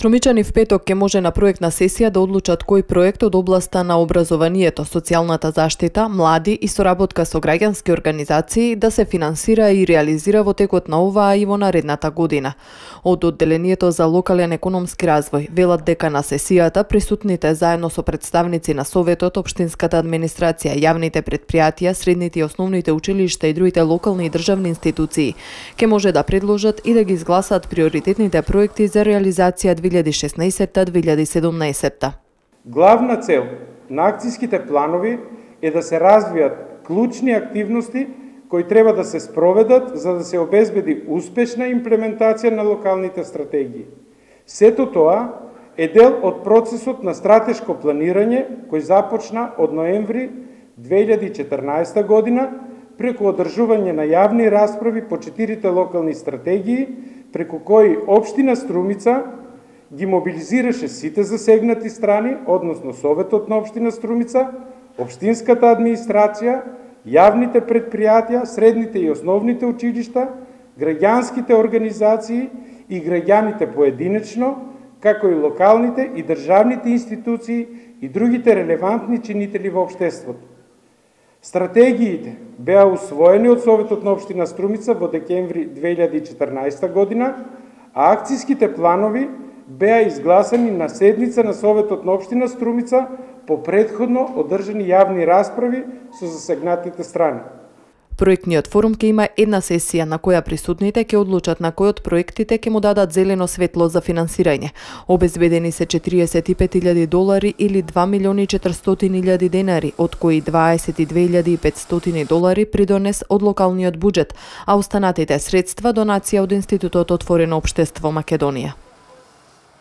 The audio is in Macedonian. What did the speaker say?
Струмичани в петок ќе може на проектна сесија да одлучат кој проект од областа на образованието, социјалната заштита, млади и соработка со граѓански организации да се финансира и реализира во текот на оваа и во наредната година. Од одделението за локален економски развој велат дека на сесијата присутните заедно со представници на Советот, општинската администрација, јавните предпријатија, средните и основните училишта и другите локални и државни институции ќе може да предложат и да ги изгласаат приоритетните проекти за реализација 2016-2017. Главна цел на акцијските планови е да се развијат клучни активности кои треба да се спроведат за да се обезбеди успешна имплементација на локалните стратегии. Сето тоа е дел од процесот на стратешко планирање кој започна од ноември 2014 година преку одржување на јавни расправи по 4 локални стратегии, преку кои општина Струмица ги мобилизираше сите засегнати страни, односно Советот на општина Струмица, општинската администрација, јавните предпријатија, средните и основните училишта, граѓанските организации и граѓаните поединечно, како и локалните и државните институции и другите релевантни чинители во општеството. Стратегиите беа усвоени од Советот на општина Струмица во декември 2014 година, а акцијските планови беа изгласани на седница на Советот на општина Струмица по претходно одржани јавни расправи со засегнатите страни. Проектниот форум ќе има една сесија на која присутните ќе одлучат на кој од проектите ќе му дадат зелено светло за финансирање. Обезбедени се $45,000 или 2.400.000 денари, од кои $22.500 придонес од локалниот буџет, а останатите средства донација од Институтот Отворено општество Македонија.